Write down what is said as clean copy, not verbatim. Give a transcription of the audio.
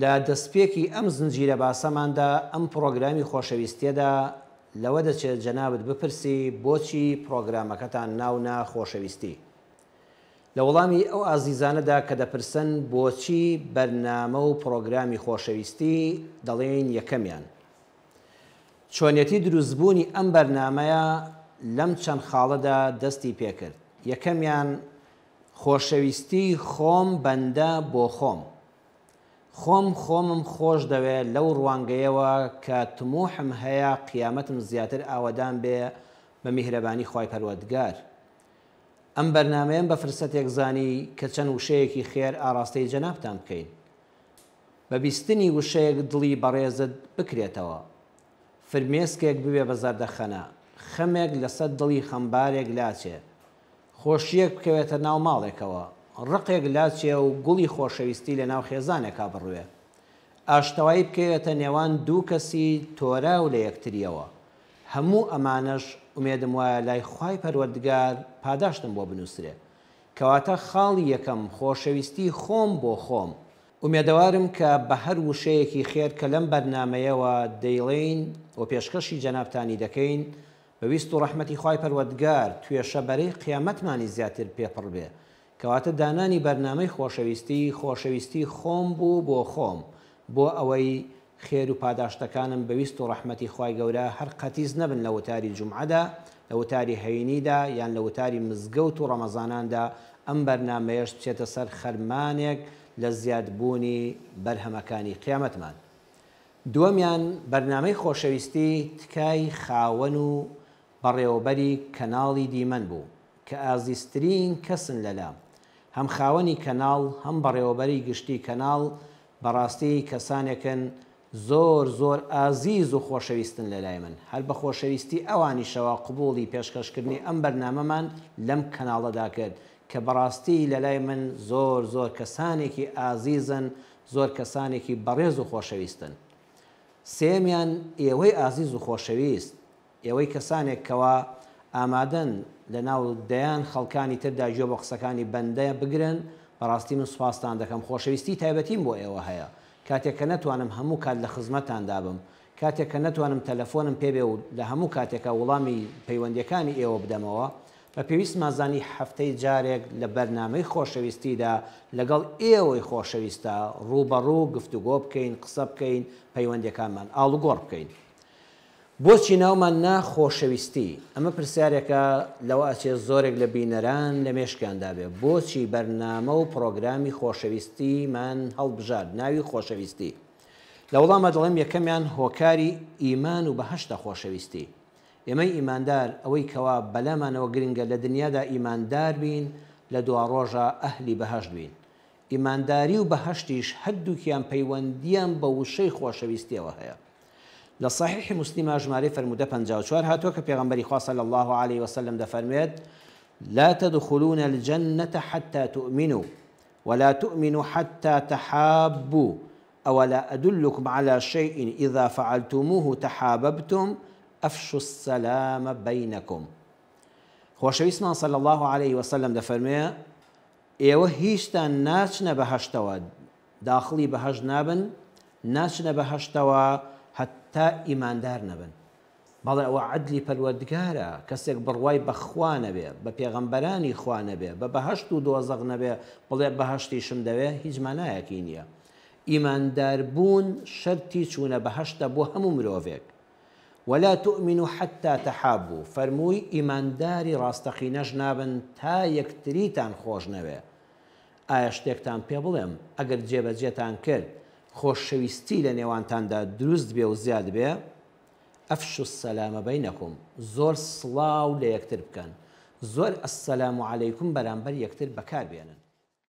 لە دەستپێکی ئەم زنجیرە باسەماندا، ئەم پڕۆگرامی خۆشەویستیەدا، لەوە دەچێت جەنابت بپرسی بۆچی پڕۆگرامەکەتان ناو نا خۆشەویستی؟ لە وەڵامی ئەو ئازیزانەدا کە دەپرسن بۆچی بەرنامە و پڕۆگرامی خۆشەویستی، دەڵێین یەکەمیان، چۆنیەتی دروستبوونی ئەم بەرنامەیە لەم چەند خاڵەدا دەستی پێکرد، یەکەمیان، خۆشەویستی خۆم بەندە بۆ خۆم. خۆم خۆمم خۆش دەوێ لەو ڕوانگەیەوە کە تموحم هەیە قیامەتم زیاتر ئاوەدان بێ بە میهرەبانی خوای پەروەردگار. ئەم بەرنامەیەم بە فرسەتێک زانی کە چەند وشەیەکی خێر ئاڕاستەی جەنابتان بکەین. بە بیستنی وشەیەک دڵی بەڕێزت بکرێتەوە. فرمێسکێک ببێ بە زەردەخەنە. خەمێک لەسەر دڵی خەمبارێک لاچێ. خۆشییەک بکەوێتە ناو ماڵێکەوە. ڕقێک لاچێ و گوڵی خۆشەویستی لە ناو خێزانێکا بڕوێ. ئاشتەوایی بکەوێتە نێوان دوو کەسی تۆراو لە یەکترییەوە. هەموو ئەمانەش ئومێدم وایە لای خوای پەروەردگار پاداشتم بۆ بنووسرێ. کەواتە خاڵی یەکەم خۆشەویستی خۆم بۆ خۆم. ئومێدەوارم کە بە هەر وشەیەکی خێر کە لەم بەرنامەیەوە دەیڵێین و پێشکەشی جەنابتانی دەکەین، بە ویست و ڕەحمەتی خوای پەروەردگار توێشە بەرەی قیامەتمانی زیاتر پێ پڕ بێ. کەواتە دانانی بەرنامەی خۆشەویستی، خۆشەویستی خۆم بوو بۆ خۆم، بۆ ئەوەی خێر و پاداشتەکانم بە ویست و ڕەحمەتی خوای گەورە هەر قەتیس نەبن لە وتاری جومعەدا، لە وتاری هەینیدا یان لە وتاری مزگەوت و ڕەمەزاناندا، ئەم بەرنامەیەش بچێتە سەر خەرمانێک لە زیادبوونی بەرهەمەکانی قیامەتمان. دووەمیان، بەرنامەی خۆشەویستی تکای خاوەن و بەڕێوەبەری کەناڵی دیمەن بوو، کە ئازیزترین کەسن لەلام. هەم خاوەنی کەناڵ، هەم بەڕێوەبەری گشتی کەناڵ بەڕاستی کەسانێکن زۆر زۆر ئازیز و خۆشەویستن لەلای من. هەر بە خۆشەویستی ئەوانیشەوە قبوڵی پێشکەشکردنی ئەم بەرنامەمان لەم کەناڵەدا کرد، کە بەڕاستی لەلای من زۆر زۆر کەسانێکی ئازیزن، زۆر کەسانێکی بەڕێز و خۆشەویستن. سێیەمیان ئێوەی ئازیز و خۆشەویست، ئێوەی کەسانێک کەوا ئامادەن لە ناو دەیان خەڵکانی تردا گوێ بۆ قسەکانی بەندە بگرن، بەڕاستی من سوپاستان دەکەم، خۆشەویستی تایبەتیم بۆ ئێوە هەیە، کاتێک کە نەتوانم هەموو کات لە خزمەتتاندا بم، کاتێک کە نەتوانم تەلەفۆنم پێ بێ و لە هەموو کاتێکا وڵامی پەیوەندیەکانی ئێوە بدەمەوە، بە پێویستمان زانی هەفتەی جارێک لە بەرنامەی خۆشەویستیدا لەگەڵ ئێوەی خۆشەویستا ڕووبەڕوو گفتوگۆ بکەین، قسە بکەین، پەیوەندیەکانمان ئاڵوگۆڕ بکەین. بۆچی ناومان نا خۆشەویستی؟ ئەمە پرسیارێکە لەوە ئەچێ زۆرێک لە بینەران لە مێشکیاندا بێ، بۆچی بەرنامە و پڕۆگرامی خۆشەویستیمان هەڵبژارد ناوی خۆشەویستی؟ لە وەڵاما دەڵێم یەکەمیان هۆکاری ئیمان و بەهەشتە خۆشەویستی. ئێمەی ئیماندار ئەوەی کەوا بەلامانەوە گرنگە لە دنیادا ئیماندار بین لە دواڕۆژا ئەهلی بەهەشت بین. ئیمانداری و بەهەشتیش هەردووکیان پەیوەندیان بە وشەی خۆشەویستیەوە هەیە. لە صحیح مسلمە ژمارەی فەرموودە 54 هاتووە کە پێغەمبەری خوا صلی اللە علیه وسلم دەفەرموێت، لا تدخلون الجنة حتى تؤمنوا ولا تؤمنوا حتى تحابوا اولا ادلکم علی شیء اذا فعلتموه تحاببتم افشوا السلام بینکم خۆشەویستمان صلی اللە علیه وسلم دەفەرموێ ئێوە هیچتان ناچنە بەهەشتەوە، داخڵی بەهەشت نابن، ناچنە بەهەشتەوە هەتا ئیماندار نەبن. بەڵێ ئەوە عەدلی پەروەردگارە، کەسێک بڕوای بە خوا نەبێ، بە پێغەمبەرانی خوا نەبێ، بە بەهەشت و دۆزەخ نەبێ، بڵێ بەهەشتیشم دەوێ، هیچ مانایەکی نییە. ئیماندار بوون شەرتی چوونە بەهەشتە بۆ هەموو مرۆڤێک. ولا تؤمنوا حتی تحابوا، فەرمووی ئیمانداری ڕاستەقینەش نابن تا یەکتریتان خۆش نەوێ. ئایا شتێکتان پێ بڵێم ئەگەر جێبەجێتان کرد خۆشەویستی لە نێوانتاندا دروست بێ و زیاد بێ؟ افشوا السلام بینکم، زۆر سڵاو لە یەکتر بکەن، زۆر السلام علیکم بەرامبەر یەکتر بەکار بێنن.